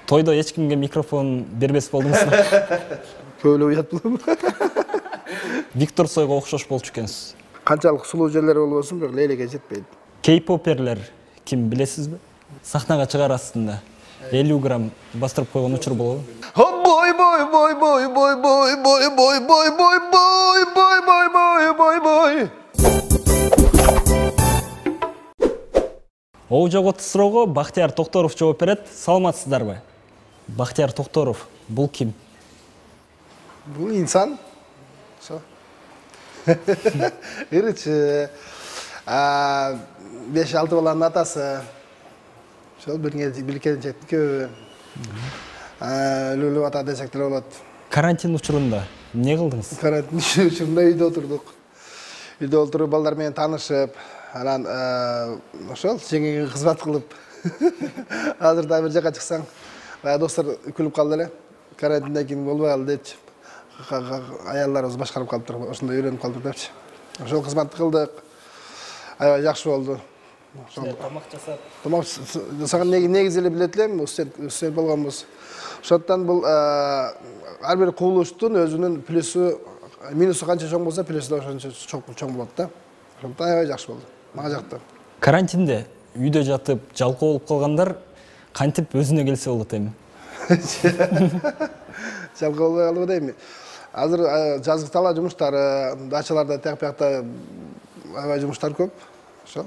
Тойдо эч кимге микрофон бербес болдуңузбу? Көйлө уят булам. Виктор Цойго окшош болчу экенсиз. Канчалык сулуу жерлери болбосун, бирок лейлеге жетпейт. Кей-поперлер ким билесизби? Сахнага чыгар астында 50 грамм бастырып койгон учур болобу? Бой бой бой бой бой бой бой бой бой бой бой бой бой бой бой бой. Оожого суроого Бактияр Токторов жооп берет. Саламатсыздарбы? Бактияр Токторов бул ким? Бул инсан. Иричи 5-6 баланын атасы. Шол билкенчектин көбү. Лүлү ата десек деле болот. Карантин учурунда эмне кылдыңыз? Карантин учурунда үйдө отурдук. Үйдө отуруп балдар менен таанышып, анан ошол жеңиң кызмат кылып. Азырда бир жака чыксаң, баягы достор күлүп калды эле. Карантинден кийин болбой калды депчи. Аялдарыбыз башкарып калыптыр, ошондой үйрөнүп калдык депчи. Ошол кызматты кылдык. Аябай жакшы болду. Тамак жасап. Тамак жасаган негизи эле билет элем, студент болгонбуз. Ошондон бул ар бир кубулуштун өзүнүн плюсу, минусу канча чоң болсо, плюсу да ошончо чоң болот да. Ошондон аябай жакшы болду. Мага жакты. Карантинде үйдө жатып жалкоо болуп калгандар кантип өзүнө келсе болот эми? Жалкоо болбой калдыбы дейми? Азыр жазгы талаа жумуштары, дачаларда тияк биякта аябай жумуштар көп. Ошол.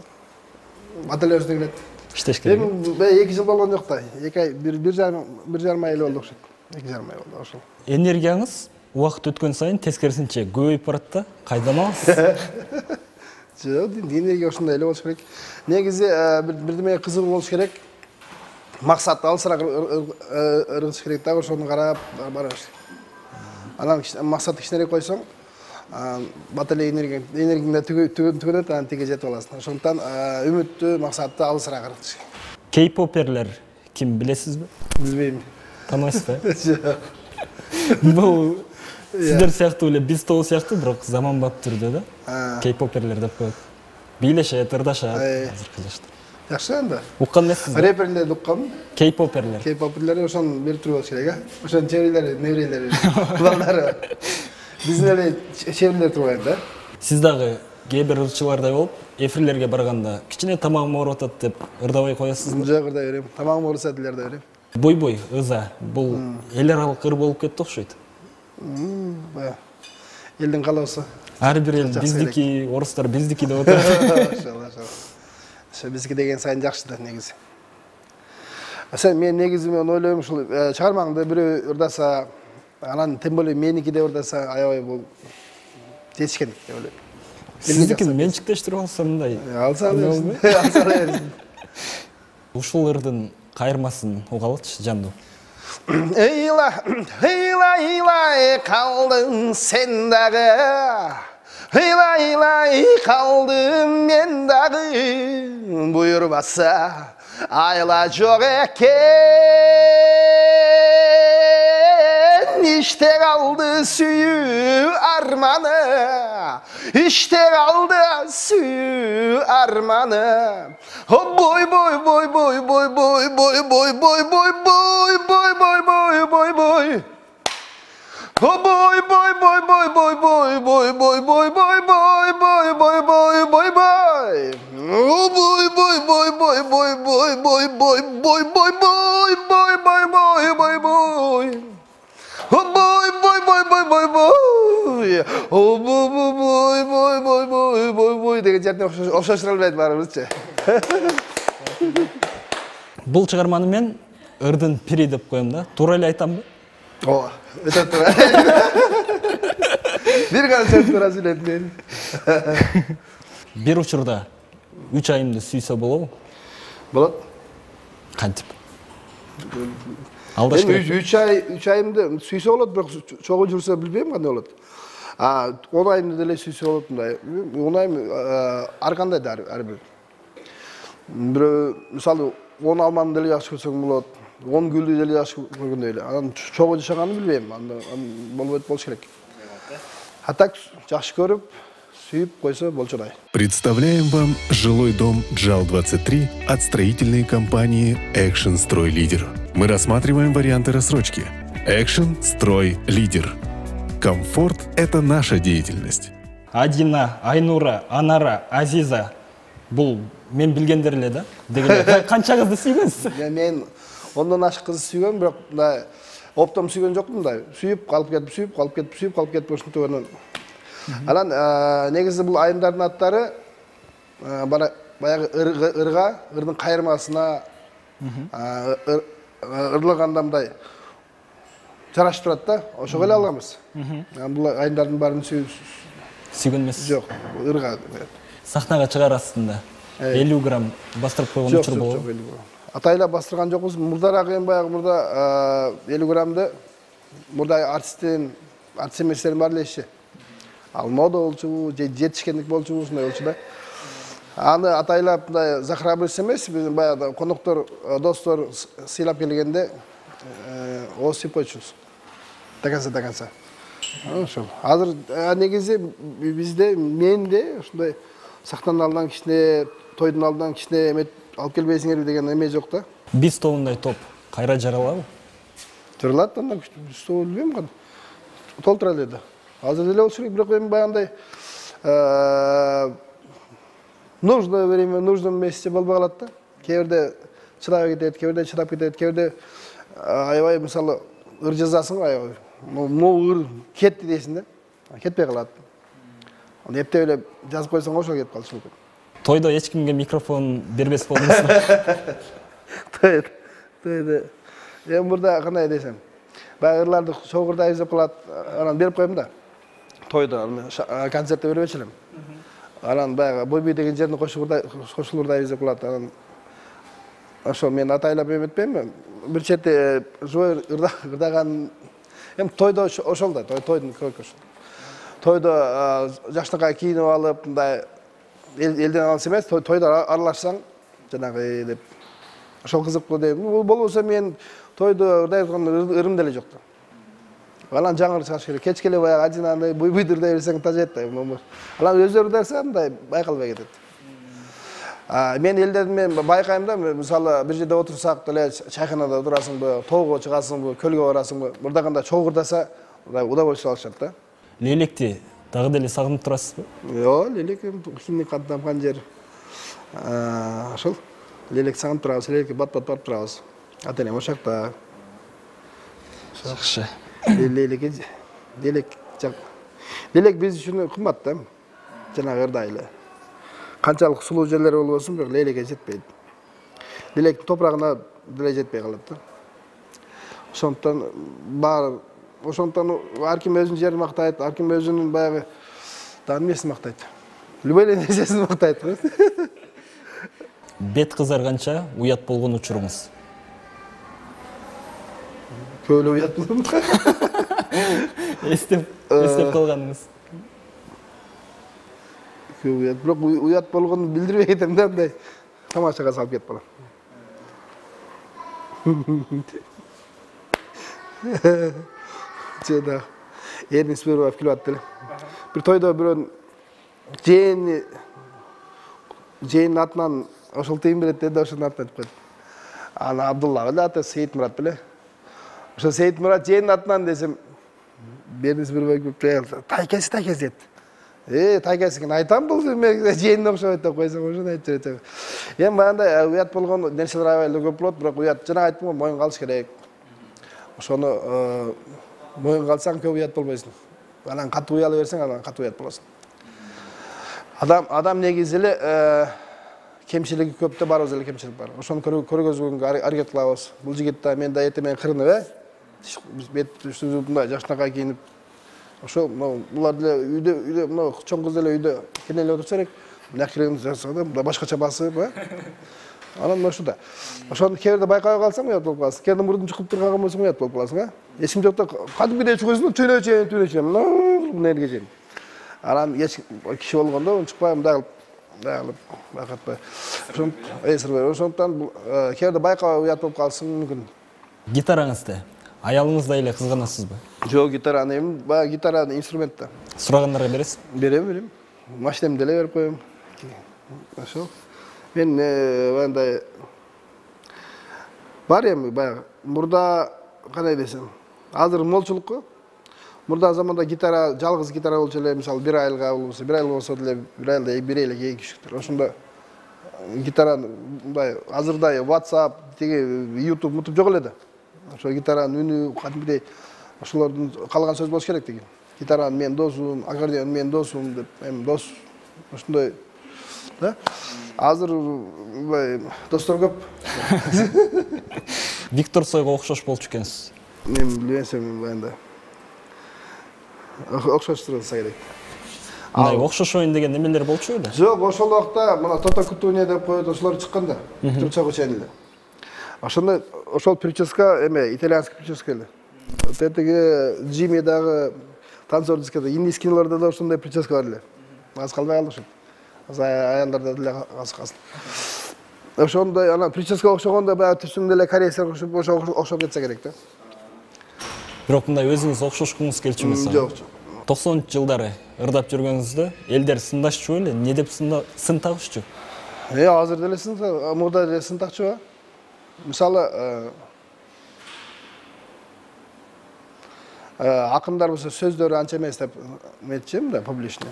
Баталия өзүнө келет. Иштеш керек. Эми 2 жыл болгон жок да. 2 ай, 1,5 ай эле болду окшойт. 2,5 ай болду ошол. Энергияңыз убакыт өткөн сайын тескерисинче көбөйүп барат да. Кайдан аласыз? Жок, энергия ошондой эле болуш керек. Негизи бирдемеге кызыгуу болуш керек. Максат алысыраак ыргыш керек да, ошону карап барабыз. Анан максатты кичинерээк койсоң, баталей энергияң түгөнөт, анан тиге жетип аласың. Ошондон үмүттүү, максатты алысыраак ыргытыш керек. Кей-поперлер ким билесизби? Билбейм. Тааныбайсызбы? Жок. Бул сиздер сыяктуу эле биз тобу сыяктуу, бирок заманбап түрдө да. Кей-поперлер деп коет. Бийлешет, ырдашат азыркы жашта. Жакшы анда. Уккан эмессизби? Рэперлерди уккам. Кей-поперлер. Кей-поперлер ошон бир түр болуш керек, а? Ошонун чеберлери, неврелери, балдары. Биздин эле чеберлер турбайт да. Сиз дагы кээ бир ырчылардай болуп, эфирлерге барганда кичине тамагым ооруп атат деп ырдабай коесузбу? Жок, ырдай берем. Тамагым ооруса деле ырдай берем. Бой-бой, ыза, бул эл аралык ыр болуп кетти окшойт. Бая. Элдин каалоосу. Ар бир эл биздики, орустар биздики деп атат. Ошо биздики деген сайын жакшы да негизи. Сен мен негизи ойлойм ушул чыгармаңды бирөө ырдаса, анан тем более меники деп ырдаса аябай бул жетишкен деп ойлойм. Сиздикин менчиктештирип алсам мындай. Алса берсин. Ушул ырдын кайырмасын угалычы жандуу. Ыйла, калдың сен дагы. Ыйлай калдым мен дагы. Буйрбаса айла жок экен. Иште калды сүйүү арманы. Иште калды сүйүү арманы. Бой бой бой бой бой бой бой бой бой бой бой бой бой бой бой бой. Boy boy boy boy boy boy boy boy boy boy boy boy boy boy boy boy boy. Oh boy boy boy boy boy boy boy boy boy boy boy boy boy boy boy boy. Oh boy boy boy boy boy boy. Oh boy boy boy boy boy boy boy boy деген жерден окшоштура албайт баарыбызчы. Бул чыгарманы мен ырдын пири деп коем да. Туура эле айтамбы? Ооба, өтө туура. Бир канча туура сүйлөдүм. Бир учурда 3 айымды сүйсө болобу? Болот. Кантип? Алдаш керек. 3 айымды сүйсө болот, бирок чогуу жүрсө билбейм кандай болот. 10 айымды деле сүйсө болот мындай. 10 айым ар кандай да ар бир. Бирөө мисалы 10 алманы деле жакшы көрсөң болот. 10 гүлдү деле жакшы көргөндөй эле. Анан чогуу жашаганын билбейм. Анда болбойт болуш керек. А так жакшы көрүп, сүйүп койсо болчудай. Представляем вам жилой дом JAL-23 от строительной компании Action Строй Лидер. Мы рассматриваем варианты рассрочки. Action Строй Лидер. Комфорт – это наша деятельность. Адина, Айнура, Анара, Азиза. Бул мен билгендер эле да. Дегеле канча кызды сүйгөнсүз? Мен ондон ашык кыз сүйгөм, бирок мындай оптом сүйгөн жокмун да. Сүйүп калып кетип ушинтип өнөн. Анан негизи бул айымдардын аттары баягы ырдын кайырмасына ырлаганда мындай жарашып турат да. Ошого эле алганбыз. Бул айымдардын баарын сүйгөн эмес. Жок, ырга. Сахнага чыгар астында 50 грамм бастырып койгон учур болобу? Атайлап бастырган жокпуз. Мурдараак эми баягы мурда 50 граммды мурда артист эместердин баары эле ал мода болчу, жетишкендик болчу, ушундай болчу да. Аны атайлап мындай захрабрыйс эмес, биз баягы коноктор, достор сыйлап келгенде осуп койчубуз. До конца. Ошол. Азыр негизи бизде менде ушундай сахнанын алдынан кичине, тойдун алдынан кичине эме алып келбейсиңерби деген эме жок да. Биз тобундай топ кайра жаралабы? Жаралат, андан күчтүү билбейм кандай. Толтура эле да. Азыр деле болчу, бирок эми баягындай нужное время, нужном месте болбой калат да. Кээ бирде чыдабай кетет, кээ бирде чыдап кетет, кээ бирде аябай мисалы ыр жазасың го аябай. Могу ыр кетти дейсиң да. Кетпей калат. Аны эптеп эле жазып койсоң ошол кетип калышы мүмкүн. Тойдо эч кимге микрофон бербес болдуңузбу? Тойдо. Эми мурда кандай десем, баягы ырларды чогурда изеп калат, анан берип коем да. Тойдо концертте бербечү элем. Анан баягы Бойбүй деген жердин кошулурда изеп калат. Анан ошо мен атайлап эметпейм. Бир чети живой ырдаган эми тойдо ошол да, тойдун көркү ошол. Тойдо жакшынакай кийинип алып, мындай элден алыс эмес, тойдо аралашсаң, жанагы деп ошол кызыктуу дейм. Болбосо мен тойдо ырдай аткан ырым деле жок да. Анан жаңыр чыгыш керек. Кечке эле баягы Адинаны буйбуйду ырдай берсең тажет да. Анан өзү ырдаса мындай байкалбай кетет. Мен элдерден байкайм да, мисалы бир жерде отурсак деле чайханада отурасыңбы, тоого чыгасыңбы, көлгө барасыңбы, мурдаганда чогуу ырдаса удовольствие алышат да. Лелекти дагы деле сагынып турасызбы? Жок, Лелек киндик каттанган жер. Ошол Лелек сагынып турабыз, Лелекке бат-бат барып турабыз. Ата-энем ошакта. Жакшы. Лелек биз үчүн кымбат да. Жанагы ырдай эле. Канчалык сулуу жерлер болбосун, бирок Лелекке жетпейт. Лелектин топурагына деле жетпей калат да. Ошондон ар ким өзүнүн жерин мактайт, ар ким өзүнүн баягы эмесин мактайт. Любой эле нерсесин мактайт. Бет кызарганча уят болгон учуруңуз? Көп эле уят болгон. Эстеп калганыңыз? Көп уят, бирок уят болгонун билдирбей кетем да, мындай тамашага салып кетип калам. Жада Эрнис Бербаев келип атты эле. Бир тойдо бирөөнүн жээнин атынан ошол тыйын берет деди, ошонун атынан айтып койду. Ана Абдулла беле аты Сейитмурат беле. Ошо Сейитмурат жээнин атынан десем, Эрнис Бербаев тайкеси дейт. Тайкеси экен айтам, бул жээнине окшобойт деп койсоң, ошону айтып жүрөт. Эми баягындай уят болгон нерселер аябай эле көп болот, бирок уят жана айттым го, моюнга алыш керек. Ошону моюнга алсаң көп уят болбойсуң. Анан катуу уяла берсең, анан катуу уят болосуң. Адам негизи эле кемчилиги көп да, барыбыз эле кемчилик бар. Ошону көргөзгөнгө аракет кылабыз. Бул жигит да мен да эртең кырынып, бет мындай жакшынакай кийинип, ошо булар деле үйдө чоң кыз деле үйдө кенеле отурса керек. Мына керегин жасаганда башкача басып, анан ошо да. Ошону кээ бирде байкабай калсаң уят болуп каласың. Кээ бирде мурдун чукуп турган болсоң уят болуп каласың, Эч ким жокто кадимгидей чыгасың, түйнөчө. Мына жерге чейин. Анан киши болгондо чыкпай мындай кылып байкатпай. Ошондон кээ бирде байкабай уят болуп калсың мүмкүн. Гитараңызды аялыңыздай эле кызганасызбы? Жок, гитараны эми баягы гитара инструмент да. Сурагандарга бересиз? Берем. Машинемди деле берип коем. Ошол. Мен андай бар эми баягы мурда кандай десем, азыр молчулукку. Мурда заманда гитара, жалгыз гитара болчу эле, мисалы 1 айга болсо, 1 ай болсо деле 1 айда 1 эле 2 кишиктер. Ошондо гитара мындай азырдай WhatsApp, YouTube жок эле да. Ошо гитаранын үнү кадимгидей ошолордун калган сөз болуш керек деген. Гитара менин досум, аккордеон менин досум деп, эми дос ошондой да. Азыр достор көп. Виктор Цойго окшош болчу экенсиз. Мен билбесем баягындай. Окшоштурса керек. Мындай окшошоюн деген немелер болчу эле? Жок, ошол убакта мына Тото Кутуня деп коет, ошолор чыкканда. Турчак учен эле. Ошондо ошол прическа эме итальянский прическа эле. Тетиги Джимми дагы танцор дискада индийский кинолордо да ошондой прическа бар эле. Аз калбай калды ошо. Аз аялдарда деле аз калсын. Ошондой ана прическа окшогондо баягы түсүң деле корейцер окшоп кетсе керек да. Бирок мындай өзүңүз окшошкуңуз келчү мисалы? Жок. 90-жылдары ырдап жүргөнүздө элдер сындашчу эле, эмне деп сын тагышчу? Азыр деле сын, мурда деле сын такчу. Мисалы, акындар болсо сөздөрү анча эмес деп метчим да, публично.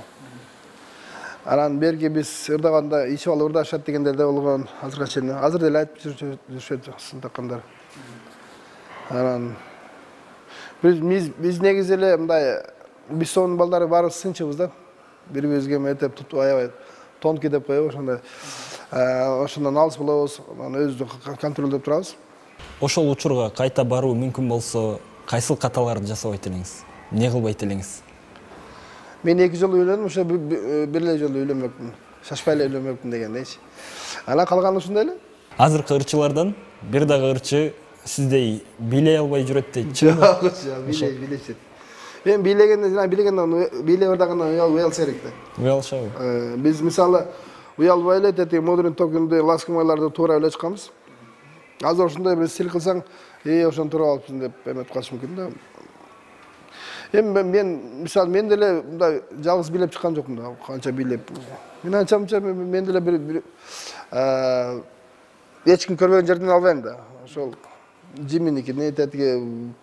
Анан берги биз ырдаганда ичип алып ырдашат дегендер да болгон, азырга чейин. Азыр деле айтып жүрүшөт сын таккандар. Анан биз негизи эле мындай Бисонун балдары баары сынчыбыз да. Бири-бирибизге метеп тутуп аябай тонкий деп коебуз, ошондой. Ошондон алыс болобуз, өзүбүздү контролдоп турабыз. Ошол учурга кайта баруу мүмкүн болсо, кайсыл каталарды жасабайт элеңиз? Эмне кылбайт элеңиз? Мен 2 жолу үйлөндүм, ошо бир эле жолу үйлөнмөкмүн. Шашпай эле үйлөнмөкмүн дегендейчи. Анан калганы ушундай эле. Азыркы ырчылардан бир дагы ырчы сиздей бийлей албай жүрөт дейт. Жок, бийлейт. Мен бийлеп ырдагандан уялыш керек да. Уялышабы? Биз мисалы уялбай эле тети модерн токунду ласкамайларды туура эле чыкканбыз. Азыр ошондой бир стиль кылсаң, ошону туура алыпсың деп эметип калыш мүмкүн да. Эми мен мисалы мен деле мындай жалгыз бийлеп чыккан жокмун да, канча бийлеп. Мен анча мен деле бир эч ким көрбөгөн жерден албайм да. Ошол Джимминикини тетиги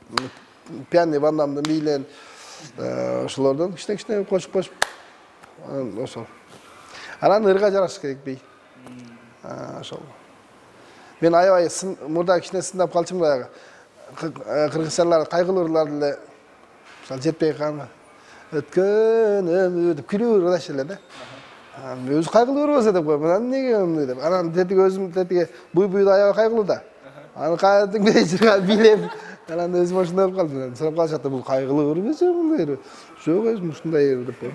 пианый вандамдын бийлен ошолордон кичине кошуп ошол. Анан ырга жараш керек бий. Ошол. Мен аябай мурда кичине сындап калчумун баягы. Кыргызчалар кайгылуу ырлар деле жетпей калган. Өткөнүм деп күлүп ырдаш эле да. Өзү кайгылуу ырбаса деп коем. Анан эмнеге ымды деп. Анан тетиги өзүм тетиги буй-буйда аябай кайгылуу да. Анан кайдыгы жүргөн билем. Анан өзүм ошондой болуп калдым. Сурап калышат, бул кайгылуу ырбаса мындай. Жок, өзүм ушундай деп коем.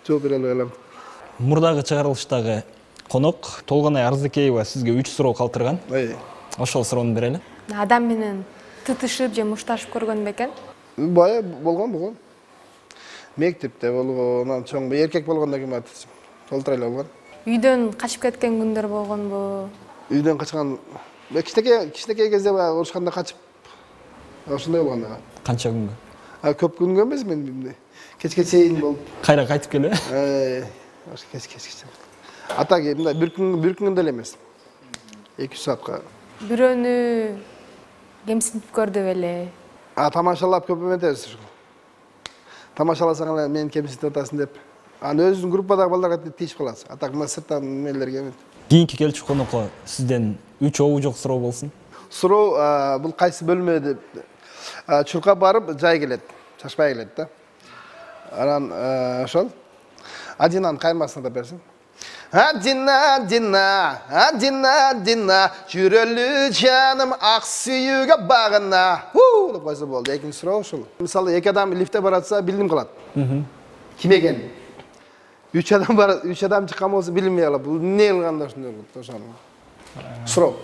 Жооп бере албай калам. Мурдагы чыгарылыштагы конок Толгонай Арзыкеева сизге 3 суроо калтырган. Ошол суроону берели. Адам менен тытышып же мушташып көргөн бекен? Бая болгон. Мектепте болгон, анан чоң эркек болгондон кийин толтура эле болгон. Үйдөн качып кеткен күндөр болгонбу? Үйдөн качкан кичинекей кезде баягы урушканда качып ошондой болгон да. Канча күнгө? Көп күнгө эмес, мен кечке чейин болуп. Кайра кайтып келе? Кечке. Атак мындай бир күн деле эмес. 2 саатка. Бирөөнү кемсинтип көрдү беле? Тамашалап көп эметебиз. Тамашаласаң эле мени кемсинтип атасың деп. Анан өзүнүн группадагы балдарга тийип каласың. Атак мына сырттан эмелерге эмет. Кийинки келчү конокко сизден 3 обу жок суроо болсун. Суроо бул кайсы бөлмө деп чуркап барып жай келет, чачпай келет да. Анан ошол Адинанын кайырмасына да берсин. Адина, жүрөлү жаным ак сүйүүгө багына. Деп койсо болду. Экинчи суроо ушул. Мисалы 2 адам лифтте баратса билдим калат. Ким экени? 3 адам чыккан болсо билинбей калат. Бул эмне кылганда ошондой болот ошону. Суроо.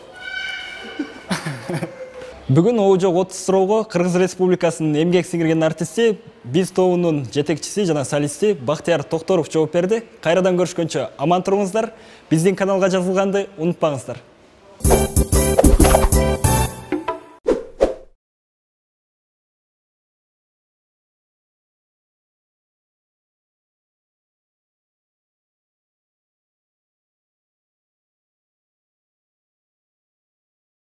Бүгүн обу жок 30 суроого Кыргыз Республикасынын эмгек сиңирген артисти, биз тобунун жетекчиси жана солисти Бактияр Токторов жооп берди. Кайрадан көрүшкөнчө аман туруңуздар. Биздин каналга жазылганды унутпаңыздар.